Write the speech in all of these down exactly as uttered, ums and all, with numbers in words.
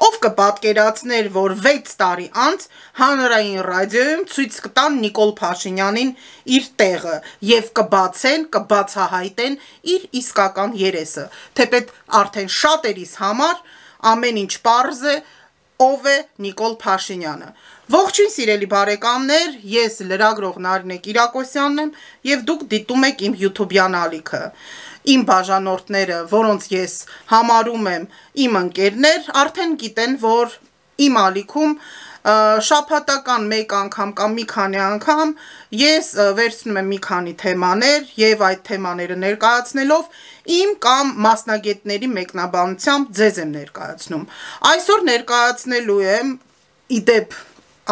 Ով կպատկերացներ, որ վեց տարի անց հանրային ռադիոյում ցույց կտան Նիկոլ Փաշինյանին իր տեղը եւ կբացեն, կբացահայտեն իր իսկական երեսը, թեպետ արդեն շատերիս համար ամեն ինչ պարզ է, ով է Նիկոլ Փաշինյանը։ Ողջույն սիրելի բարեկամներ, ես լրագրող Նարինե Կիրակոսյանն եմ եւ դուք դիտում եք իմ YouTube-յան ալիքը։ Իմ բաժանորդները, որոնց ես համարում եմ իմ ընկերներ, արդեն գիտեն, որ իմ ալիքում շաբաթական մեկ անգամ կամ մի քանի անգամ ես վերցնում եմ մի քանի թեմաներ եւ այդ թեմաները ներկայացնելով իմ կամ մասնագետների մեկնաբանությամբ ձեզ եմ ներկայացնում։ Այսօր ներկայացնելու եմ իդեպ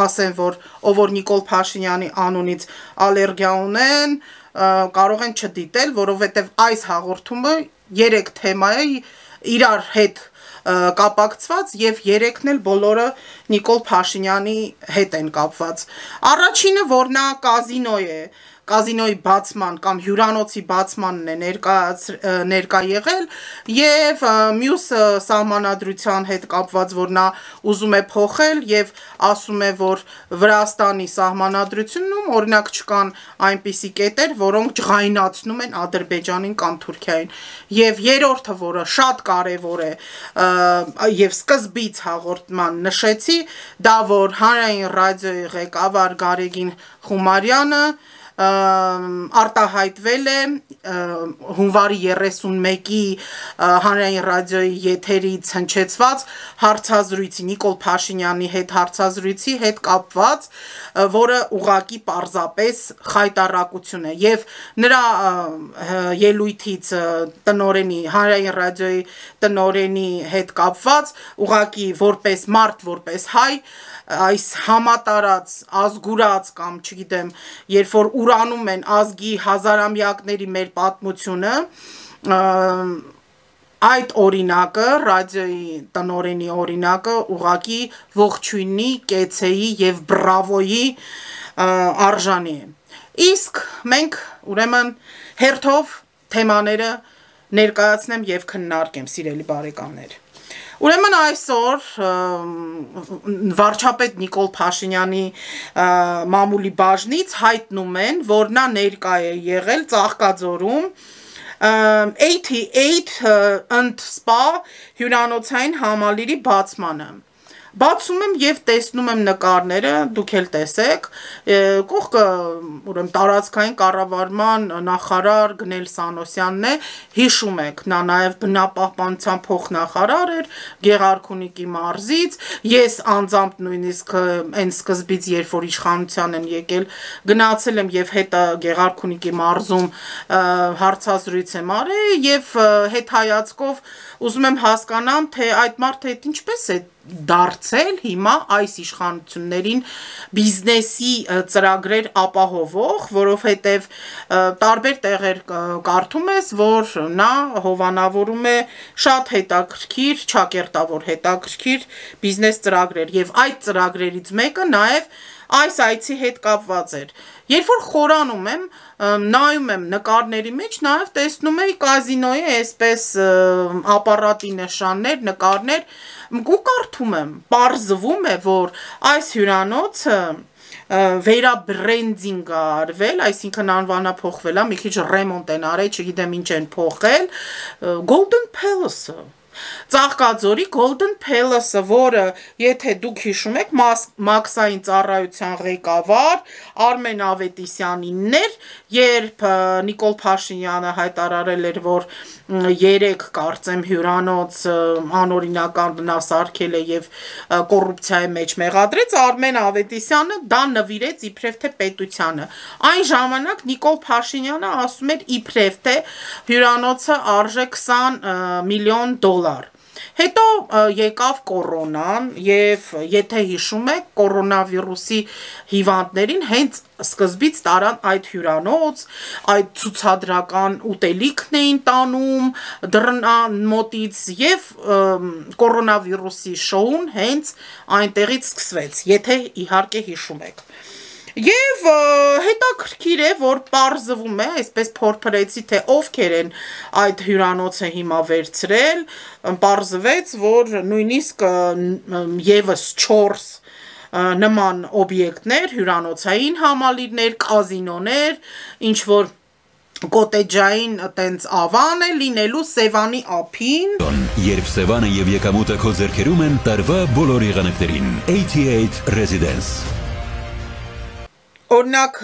ասեմ, որ ով որ Նիկոլ Փաշինյանի անունից ալերգիա ունեն, կարող են չդիտել, որովհետև այս հաղորդումը երեք թեմա է իրար հետ կապակցված եւ երեքն էլ բոլորը Նիկոլ Փաշինյանի հետ են կապված։ Առաջինը, որ նա կազինո է, կազինոյի բացման կամ հյուրանոցի բացմանն է ներկա ներկա եղել եւ մյուս սահմանադրության հետ կապված, որ նա ուզում է փոխել եւ ասում է, որ Վրաստանի սահմանադրությունում օրինակ չկան այնպիսի կետեր, որոնք ջղայնացնում են Ադրբեջանին կամ Թուրքիային։ Եվ երրորդը, որը շատ կարեւոր է եւ սկզբից հաղորդման նշեցի, դա որ հանրային ռադիոյի ղեկավար Գարեգին Խումարյանը արտահայտվել է հունվարի երեսունմեկի հանրային ռադիոյի եթերից հնչեցված հարցազրույցի Նիկոլ Փաշինյանի հետ հարցազրույցի հետ կապված, որը ուղղակի պարզապես խայտառակություն է եւ նրա ելույթից տնորենի հանրային ռադիոյի տնորենի հետ կապված ուղղակի որպես մարդ, որպես հայ այս համատարած ազգուրած կամ չգիտեմ, երբ որ ուրանում են ազգի հազարամյակների մեր պատմությունը, այդ օրինակը, ռադիոյի տնորենի օրինակը ուղղակի ողջույնի, կեցեի եւ բրավոյի արժանի է։ Իսկ մենք ուրեմն հերթով թեմաները ներկայացնեմ եւ քննարկեմ, սիրելի բարեկամներ։ Ուրեմն այսօր վարչապետ Նիկոլ Փաշինյանի մամուլի բաժնից հայտնում են, որ նա ներկա է եղել Ծաղկաձորում ութսունութ ընդ սպա հյուրանոցային համալիրի բացմանը։ Բացում եմ եւ տեսնում եմ նկարները, դուք էլ տեսեք, կողքը ուրեմն տարածքային կառավարման նախարար Գնել Սանոսյանն է, հիշում եք, նա նաեւ բնապահպանության փոխնախարար էր Գեղարքունիքի մարզից, ես անձամբ նույնիսկ այն սկզբից, երբ որ իշխանության են եկել, գնացել եմ եւ հետը Գեղարքունիքի մարզում հարցազրույց եմ արել եւ հետ հայացքով ուզում եմ հասկանամ, թե այդ մարդը այդ ինչպես է դարձել հիմա այս իշխանություններին բիզնեսի ծրագրեր ապահովող, որովհետև տարբեր տեղեր կարդում ես, որ նա հովանավորում է շատ հետաքրքիր, չակերտավոր հետաքրքիր բիզնես ծրագրեր եւ այդ ծրագրերից մեկը նաեւ այս այցի հետ կապված էր։ Երբ որ խորանում եմ, նայում եմ նկարների մեջ, նաեւ տեսնում եմ կազինոյի այսպես ապարատի նշաններ, նկարներ, ու կարդում եմ, պարզվում է, որ այս հյուրանոցը վերաբրենդինգ է արվել, այսինքն անվանափոխվել է, մի քիչ ռեմոնտ են արել, չգիտեմ ինչ են փոխել, Golden Palace-ը Ծաղկաձորի Golden Palace-ը, որը, եթե դուք հիշում եք, մաքսային ծառայության ղեկավար Արմեն Ավետիսյանինն էր, երբ Նիկոլ Փաշինյանը հայտարարել էր, որ երեք կարծեմ հյուրանոց անօրինական բնասարքել է եւ կոռուպցիայի մեջ մեղադրեց, Արմեն Ավետիսյանը դա նվիրեց իբրև թե պետությանը։ Այն ժամանակ Նիկոլ Փաշինյանը ասում էր իբրև թե հյուրանոցը արժե քսան միլիոն դոլար։ Հետո եկավ կորոնան եւ եթե հիշում եք կորոնավիրուսի հիվանդներին հենց սկզբից տարան այդ հյուրանոց, այդ ցուցադրական ուտելիքն էին տանում դռան մոտից եւ կորոնավիրուսի շոուն հենց այնտեղից սկսվեց, եթե իհարկե հիշում եք։ Եվ հետաքրքիր է, որ պարզվում է, այսպես փորփրեցի, թե ովքեր են այդ հյուրանոցը հիմա վերցրել, պարզվեց, որ նույնիսկ ևս չորս նման օբյեկտներ, հյուրանոցային համալիրներ, կազինոներ, ինչ որ կոտեջային տենց ավան է լինելու Սևանի ափին։ Երբ Սևանը եւ եկամուտը քո ձեռքերում են տարվա բոլոր եղանակներին։ ութսունութ Residence։ Օրինակ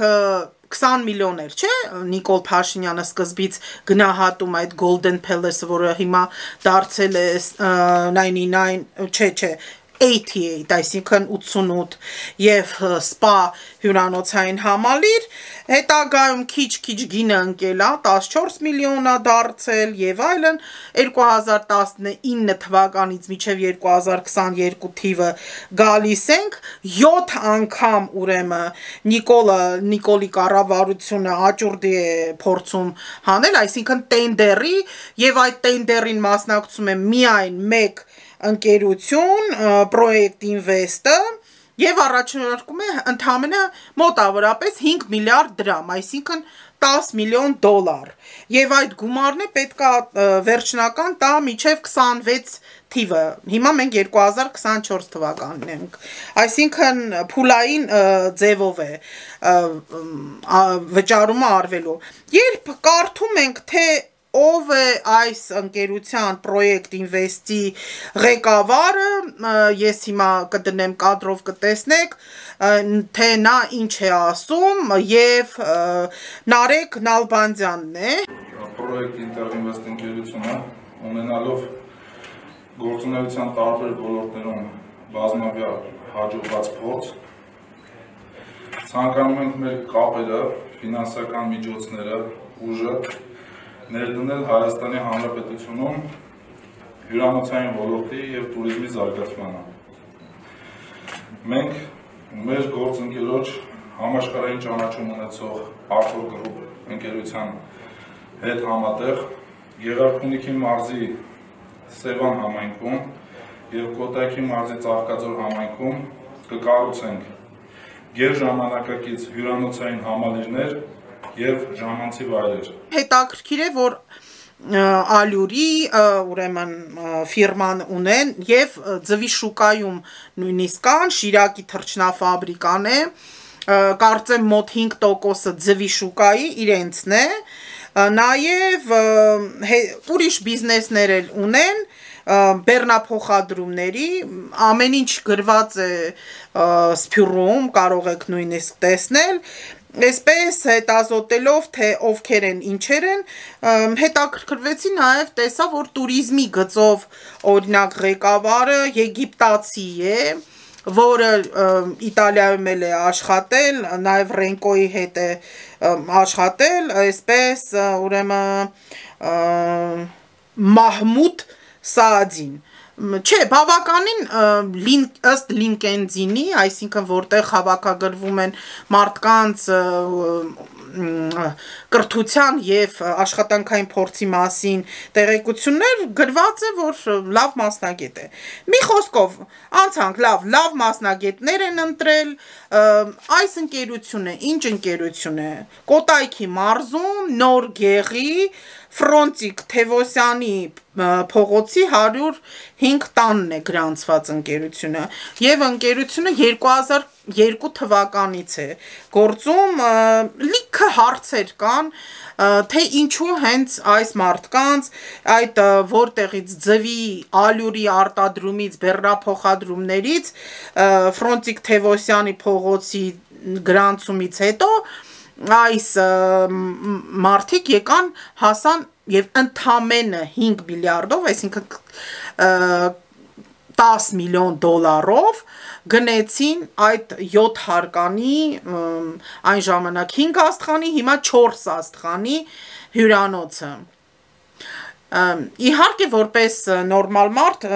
քսան միլիոներ, չէ՞, Նիկոլ Փաշինյանը սկզբից գնահատում այդ Golden Palace-ը, որը հիմա դարձել է նայնտի նայն, չէ, չէ, ութսունութ, այսինքն ութսունութ եւ սպա հյուրանոցային համալիր, հետագայում քիչ-քիչ գինը ընկել է, տասնչորս միլիոն է դարձել եւ այլն, երկու հազար տասնինը թվականից մինչեւ երկու հազար քսաներկու թիվը գալիս ենք, յոթ անգամ ուրեմն Նիկոլը Նիկոլի կառավարությունը աճուրդի է փորձում հանել, այսինքն տենդերի եւ այդ տենդերին մասնակցում է միայն մեկ ընկերություն, Project Invest-ը եւ առաջարկում է ընդամենը մոտավորապես հինգ միլիարդ դրամ, այսինքն տասը միլիոն դոլար։ Եվ այդ գումարն է պետք է վերջնական տա մինչև քսանվեց թիվը։ Հիմա մենք երկու հազար քսանչորս թվականն ենք։ Այսինքն փուլային ձևով է վճարումը արվելու։ Երբ կարդում ենք, թե ով է այս ընկերության Project Invest-ի ղեկավարը, ես հիմա կդնեմ կադրով կտեսնեք, թե նա ինչ է ասում եւ Նարեկ Նալբանդյանն է։ Project Invest ընկերությունը ունենալով գործունեության տարբեր ոլորտներում բազմավյա հաջողված փորձ, ցանկանում ենք մեր կապերը, ֆինանսական միջոցները, ուժը ներդնել Հայաստանի Հանրապետությունում հյուրանոցային ոլորտի և տուրիզմի զարգացմանը։ Մենք մեր գործընկերոջ համաշխարհային ճանաչում ունեցող Arthur Group ընկերության հետ համատեղ Գեղարքունիքի մարզի Սևան համայնքում և Կոտայքի մարզի Ծաղկաձոր համայնքում կկառուցենք գերժամանակակից հյուրանոցային համալիրներ և ժամանցի վայրեր։ Հետաքրքիր է, որ Ալյուրի ուրեմն ֆիրման ունեն եւ ձվի շուկայում նույնիսկ կան, Շիրակի թռչնաֆաբրիկան է, կարծեմ մոտ հինգ տոկոսը ձվի շուկայի իրենցն է, նաեւ ուրիշ բիզնեսներ էլ ունեն, բեռնափոխադրումների, ամեն ինչ գրված է սփյուռում, կարող եք նույնիսկ տեսնել, այսպես հետազոտելով, թե ովքեր են, ինչեր են, հետաքրքրվեցի նաև տեսա, որ տուրիզմի գծով օրինակ ղեկավարը եգիպտացի է, որը Իտալիայում էլ է աշխատել, նաև Ռենկոյի հետ է աշխատել, այսպես ուրեմն Մահմուդ Սաադին։ Չէ, բավականին ըստ LinkedIn-ի, այսինքն որտեղ հավաքագրվում են մարդկանց կրթության եւ աշխատանքային փորձի մասին տեղեկություններ, գրված է, որ լավ մասնագետ է։ Մի խոսքով, անցանք, լավ, լավ մասնագետներ են ընտրել, այս ընկերությունը, ինչ ընկերություն է, Կոտայքի մարզում, Նոր Գեղի, Ֆրոնտիկ Թևոսյանի փողոցի հարյուր հինգ տանն է գրանցված ընկերությունը եւ ընկերությունը երկու հազար երկու թվականից է գործում, լիքը հարցեր կան, թե ինչու հենց այս մարդկանց այդ որտեղից ձվի ալյուրի արտադրումից բեռնափոխադրումներից Ֆրոնտիկ Թևոսյանի փողոցի գրանցումից հետո այս մարդիկ եկան հասան եւ ընդամենը հինգ միլիարդով, այսինքն տասը միլիոն դոլարով գնեցին այդ յոթ հարկանի, այն ժամանակ հինգ աստղանի, հիմա չորս աստղանի հյուրանոցը։ Իհարկե որպես նորմալ մարդ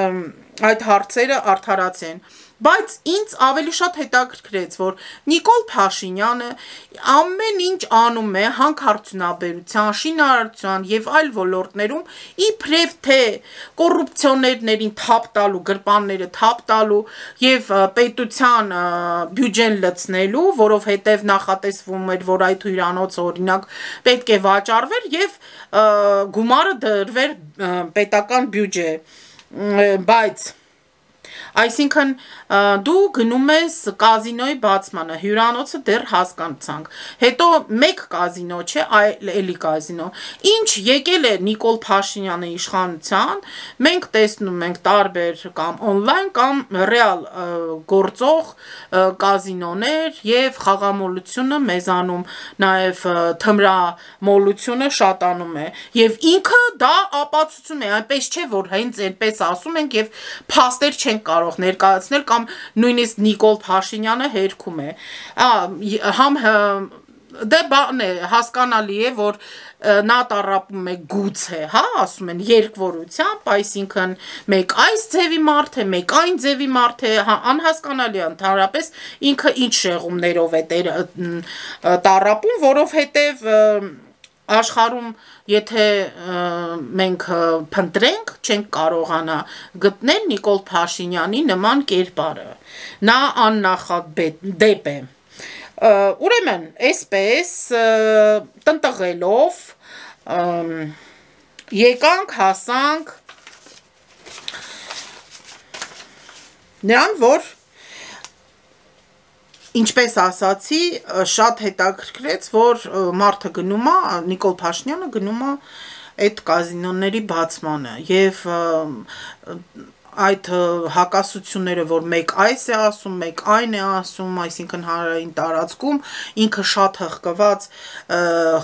այդ հարցերը արդարացեն։ Բայց ինձ ավելի շատ հետաքրքրեց, որ Նիկոլ Փաշինյանը ամեն ինչ անում է հանքարդյունաբերության, շինարարության եւ այլ ոլորտներում իբրև թե կոռուպցիոներներին թափ տալու, գրպանները թափ տալու եւ պետության բյուջեն լցնելու, որովհետեւ նախատեսվում էր, որ այդ հյուրանոցը օրինակ պետք է վաճառվեր եւ գումարը դրվեր պետական բյուջե, բայց այսինքն դու գնում ես կազինոյի բացմանը, հյուրանոցը դեռ հասկանցանք, հետո մեկ կազինո չէ, այլ էլի կազինո, ինչ եկել է Նիկոլ Փաշինյանը իշխանության, մենք տեսնում ենք տարբեր կամ օնլայն կամ ռեալ գործող կազինոներ եւ խաղամոլությունը մեզանում, նաեւ թմրամոլությունը շատանում է եւ ինքը դա ապացուցում է, այնպես չէ, որ հենց այնպես ասում ենք եւ փաստեր չենք կարող ներկայացնել կամ նույնիսկ Նիկոլ Փաշինյանը հերքում է, համ դե բան է, հասկանալի է, որ նա տառապում է գուցե, հա, ասում են երկվորությամբ, այսինքն մեկ այս ձևի մարդ է, մեկ այն ձևի մարդ է, անհասկանալի է ընդհանրապես ինքը ինչ շեղումներով է տառապում, որովհետև աշխարհում եթե մենք փնտրենք, չենք կարողանա գտնել Նիկոլ Փաշինյանի նման կերպարը, նա աննախադեպ է, ուրեմն այսպես տնտղելով եկանք հասանք նրան, որ ինչպես ասացի, շատ հետաքրքրեց, որ մարդը գնում է, Նիկոլ Փաշինյանը գնում է այդ կազինոների բացմանը եւ այդ հակասությունները, որ մեկ այս է ասում, մեկ այն է ասում, այսինքն հանրային տարածքում ինքը շատ հղկված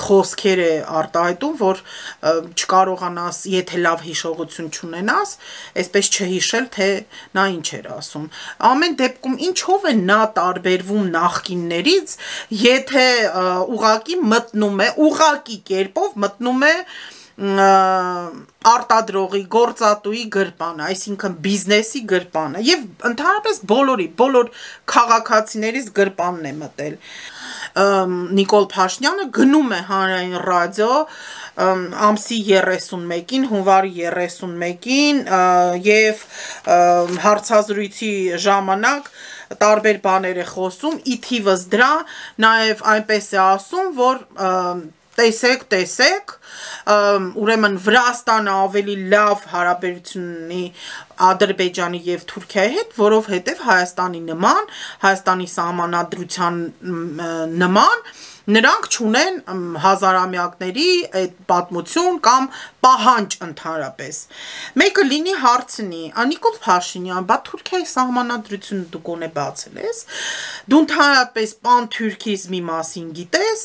խոսքեր է արտահայտում, որ չկարողանաս, եթե լավ հիշողություն չունենաս, այսպես չհիշել, թե նա ինչ էր ասում։ Ամեն դեպքում ինչով է նա տարբերվում նախկիններից, եթե ուղակի մտնում է, ուղակի կերպով մտնում է արտադրողի, գործատուի գրպանը, այսինքն բիզնեսի գրպանը եւ ընդհանրապես բոլորի, բոլոր քաղաքացիներից գրպանն է մտել։ Նիկոլ Փաշինյանը գնում է հանրային ռադիո ամսի երեսունմեկին, հունվարի երեսունմեկին եւ հարցազրույցի ժամանակ տարբեր բաներ է խոսում, ի թիվս դրա նաեւ այնպես է ասում, որ տեսեք, տեսեք, ուրեմն Վրաստանը ավելի լավ հարաբերություն ունի Ադրբեջանի եւ Թուրքիայի հետ, որովհետեւ Հայաստանի նման, Հայաստանի սահմանադրության նման նրանք չունեն հազարամյակների այդ պատմություն կամ պահանջ ընդհանրապես։ Մեկը լինի հարցնի, Նիկոլ Փաշինյան, բա Թուրքիայի սահմանադրությունը դու գոնե բացել ես, դու ընդհանրապես պանթուրքիզմի մասին գիտես,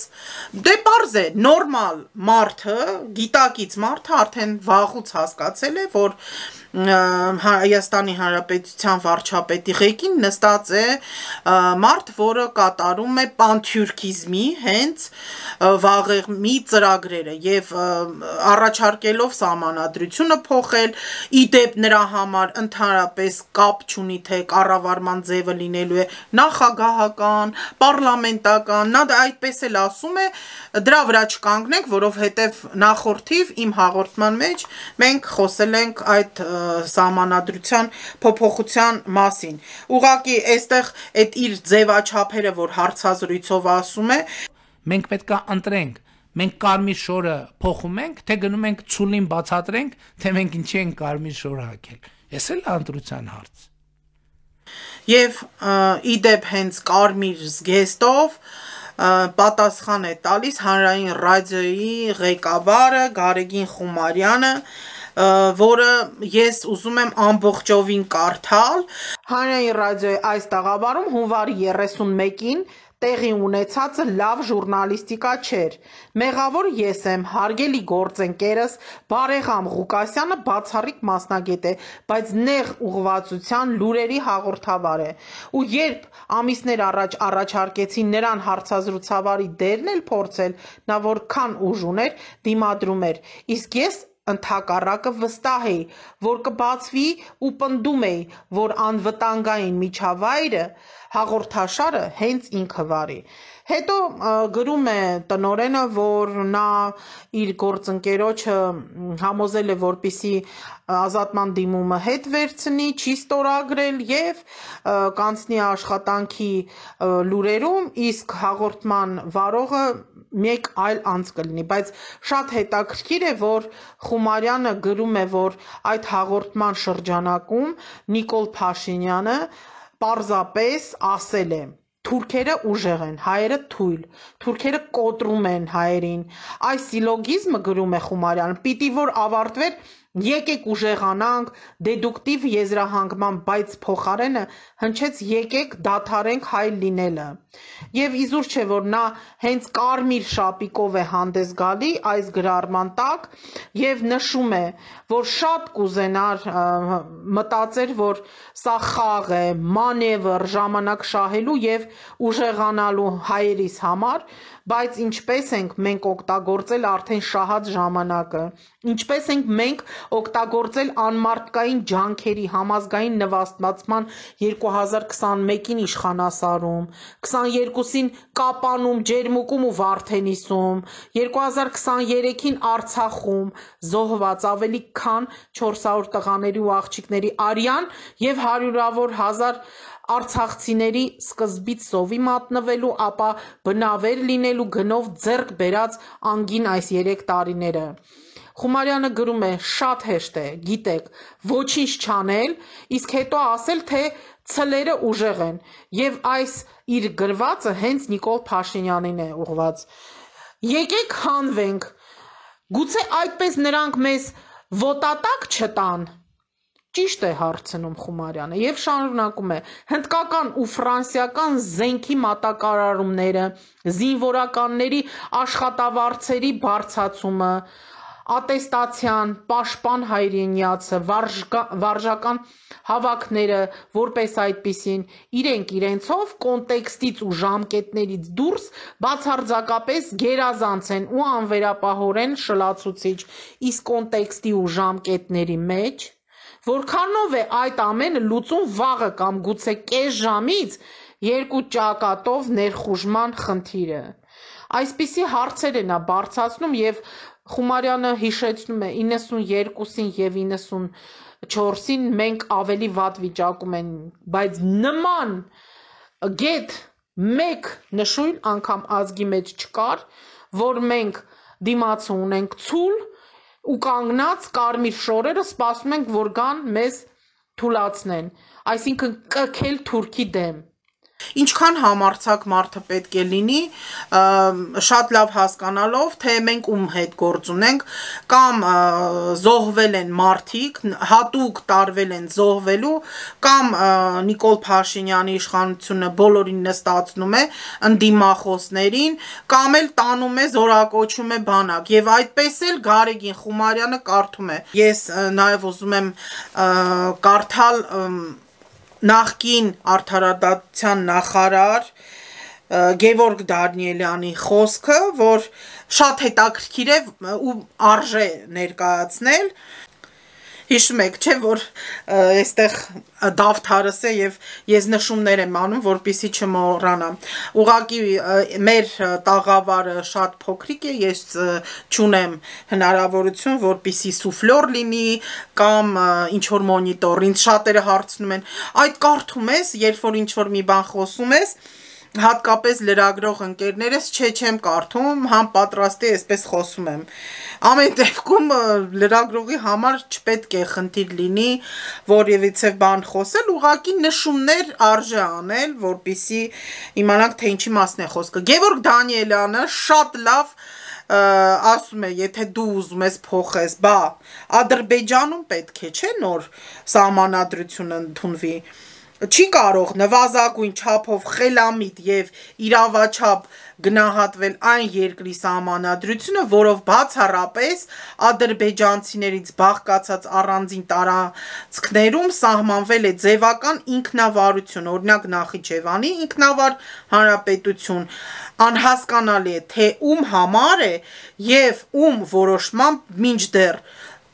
դե պարզ է, նորմալ մարդը, գիտակից մարդը արդեն վաղուց հասկացել է, որ Հայաստանի Հանրապետության վարչապետի ղեկին նստած է մարդ, որը կատարում է պանթուրքիզմի հենց վաղեմի ծրագրերը եւ առաջարկելով սահմանադրությունը փոխել, իդեպ նրա համար ընդհանրապես կապ չունի, թե կառավարման ձևը լինելու է նախագահական, պարլամենտական, նա դա այդպես էլ ասում է, դրա վրա չկանգնենք, որովհետեւ նախորդիվ իմ հաղորդման մեջ մենք խոսել ենք այդ սահմանադրության փոփոխության մասին։ Ուղղակի այստեղ այդ իր ձևաչափերը, որ հարցազրույցով ասում է, մենք պետք է ընտրենք, մենք կարմիր շորը փոխում ենք, թե գնում ենք ցուլին բացատրենք, թե մենք ինչի ենք կարմիր շոր հագել։ Էս էլ ընտրության հարց։ Եվ իդեպ հենց կարմիր զգեստով պատասխան է տալիս հանրային ռադիոյի ղեկավարը Գարեգին Խումարյանը, որը ես ուզում եմ ամբողջովին կարդալ։ Հանրային ռադիոյի այս տաղավարում հունվարի երեսունմեկին տեղի ունեցածը լավ ժուրնալիստիկա չէր։ Մեղավոր ես եմ, հարգելի գործընկերս Բարեգամ Ղուկասյանը բացառիկ մասնագետ է, բայց նեղ ուղղվածության լուրերի հաղորդավար է։ Ու երբ ամիսներ առաջ առաջարկեցին նրան հարցազրույցավարի դերն էլ փորձել, նա որքան ուժ ուներ, դիմադրում էր, իսկ ես ընդհակառակը վստահ էի, որ կբացվի ու պնդում էի, որ անվտանգային միջավայրը հաղորդաշարը հենց ինքը վարի։ Հետո գրում է տնօրենը, որ նա իր գործընկերոջը համոզել է, որպեսզի ազատման դիմումը հետ վերցնի, չի ստորագրել եւ կանցնի աշխատանքի լուրերում, իսկ հաղորդման վարողը մեկ այլ անձ կլինի, բայց շատ հետաքրքիր է, որ Խումարյանը գրում է, որ այդ հաղորդման շրջանակում Նիկոլ Փաշինյանը պարզապես ասել է. թուրքերը ուժեղ են, հայերը թույլ, թուրքերը կոտրում են հայերին։ Այս սիլոգիզմը, գրում է Խումարյանը, պիտի որ ավարտվեր եկեք ուժեղանանք, դեդուկտիվ եզրահանգման, բայց փոխարենը հնչեց եկեք դադարենք հայ լինելը։ Եվ իզուր չէ, որ նա հենց կարմիր շապիկով է հանդես գալի այս գրառման տակ եւ նշում է, որ շատ կուզենար մտածեր, որ սա խաղ է, մանևր, ժամանակ շահելու եւ ուժեղանալու հայերիս համար, բայց ինչպես ենք մենք օգտագործել արդեն շահած ժամանակը, ինչպես ենք մենք օգտագործել անմարդկային ջանքերի համազգային նվաստացման երկու հազար քսանմեկին իշխանասարում, քսաներկուսին Կապանում, Ջերմուկում ու Վարդենիսում, երկու հազար քսաներեքին Արցախում զոհված ավելի քան չորս հարյուր տղաների ու աղջիկների արյան եւ հարյուրավոր հազար արցախցիների սկզբից սովի մատնվելու, ապա բնավեր լինելու գնով ձեռք բերած անգին այս երեք տարիները։ Խումարյանը գրում է, շատ հեշտ է, գիտեք, ոչինչ չանել, իսկ հետո ասել, թե ցլերը ուժեղ են, եւ այս իր գրվածը հենց Նիկոլ Փաշինյանին է ուղված։ Եկեք հանվենք, գուցե այդպես նրանք մեզ ոտատակ չտան։ Ճիշտ է հարցնում Խումարյանը եւ շարունակում է. հնդկական ու ֆրանսիական զենքի մատակարարումները, զինվորականների աշխատավարձերի բարձրացումը, ատեստացիան, պաշտպան հայրենիացը, վարժական հավաքները, որպես այդպիսին, իրենք իրենցով կոնտեքստից ու ժամկետներից դուրս բացարձակապես գերազանց են ու անվերապահորեն շլացուցիչ, իսկ կոնտեքստի ու ժամկետների մեջ որքանով է այդ ամենը լուծում վաղը կամ գուցե կես ժամից երկու ճակատով ներխուժման խնդիրը։ Այսպիսի հարցեր է նա բարձրացնում եւ Խումարյանը հիշեցնում է իննսունյերկուսին եւ իննսունչորսին մենք ավելի վատ վիճակում են, բայց նման գետ մեկ նշույլ անգամ ազգի մեջ չկար, որ մենք դիմաց ունենք ցուլ ու կանգնած կարմիր շորերը սպասում ենք, որ գան մեզ թուլացնեն, այսինքն կքել թուրքի դեմ։ Ինչքան համարձակ մարդը պետք է լինի, շատ լավ հասկանալով, թե մենք ում հետ գործ ունենք, կամ զոհվել են մարդիկ, հատուկ տարվել են զոհվելու, կամ Նիկոլ Փաշինյանի իշխանությունը բոլորին նստացնում է ընդդիմախոսներին, կամ էլ տանում է, զորակոչում է բանակ, եւ այդպես էլ Գարեգին Խումարյանը կարդում է։ Ես նաեւ ուզում եմ կարդալ նախկին արդարադատության նախարար Գևորգ Դանիելյանի խոսքը, որ շատ հետաքրքիր է ու արժե ներկայացնել։ Հիշում եք, չէ, որ այստեղ դավթարս է եւ ես նշումներ եմ անում, որպեսզի չմոռանամ։ Ուղղակի մեր տաղավարը շատ փոքրիկ է, ես չունեմ հնարավորություն, որպեսզի սուֆլոր լինի կամ ինչ որ մոնիտոր, ինձ շատերը հարցնում են, այդ կարդում ես, երբ որ ինչ որ մի բան խոսում ես, հատկապես լրագրող ընկերներս չէ չեմ կարդում, համ պատրաստ է այսպես խոսում եմ։ Ամեն դեպքում լրագրողի համար չպետք է խնդիր լինի որևիցե բան խոսել, ուղղակի նշումներ արժե անել, որպեսզի իմանանք թե ինչի մասն է խոսքը։ Գևորգ Դանիելյանը շատ լավ ասում է, եթե դու ուզում ես փոխես, բա Ադրբեջանում պետք է չէ նոր սահմանադրություն ընդունվի։ Չի կարող նվազագույն չափով խելամիտ եւ իրավաչափ գնահատվել այն երկրի սահմանադրությունը, որով բացառապես ադրբեջանցիներից բաղկացած առանձին տարածքներում սահմանվել է ձևական ինքնավարություն, օրինակ Նախիջևանի ինքնավար հանրապետություն, անհասկանալի է, թե ում համար է եւ ում որոշմամբ մինչդեռ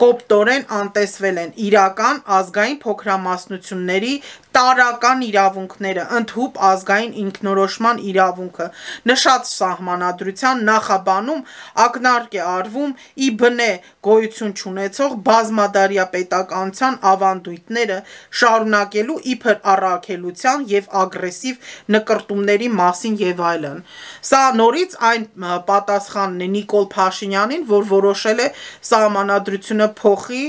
կոպտորեն անտեսվել են իրական ազգային փոքրամասնությունների տարական իրավունքները, ընդհուպ ազգային ինքնորոշման իրավունքը, նշած սահմանադրության նախաբանում ակնարկ է արվում ի բնե գոյություն չունեցող բազմադարյա պետականության ավանդույթները շարունակելու իբր առաքելության և ագրեսիվ նկրտումների մասին և այլն։ Սա նորից այն պատասխանն է Նիկոլ Փաշինյանին, որ որոշել է սահմանադրությունը փոխի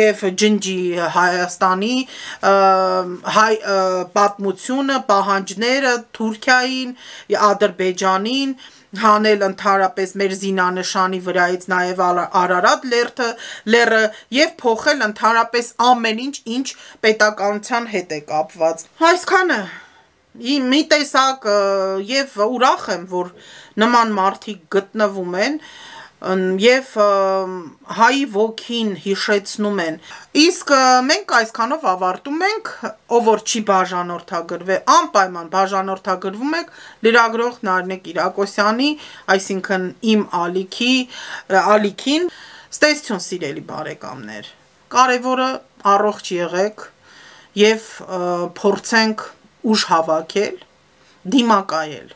և ջնջի Հայաստանի հայ պատմությունը, պահանջները Թուրքիային, Ադրբեջանին, հանել ընդհանրապես մեր զինանշանի վրայից նաև Արարատ լեռը և փոխել ընդհանրապես ամեն ինչ, ինչ պետականության հետ է կապված։ Այսքանը մի տեսակ և ուրախ եմ, որ նման մարդիկ գտնվում են և հայի ոգին հիշեցնում են։ Իսկ մենք այսքանով ավարտում ենք, ով որ չի բաժանորդագրվել, անպայման բաժանորդագրվում եք լրագրող Նարինե Կիրակոսյանի, այսինքն իմ ալիքի ալիքին։ Ստեսություն սիրելի բարեկամներ, կարևորը առողջ եղեք և փորձենք ուժ հավաքել, դիմակայել։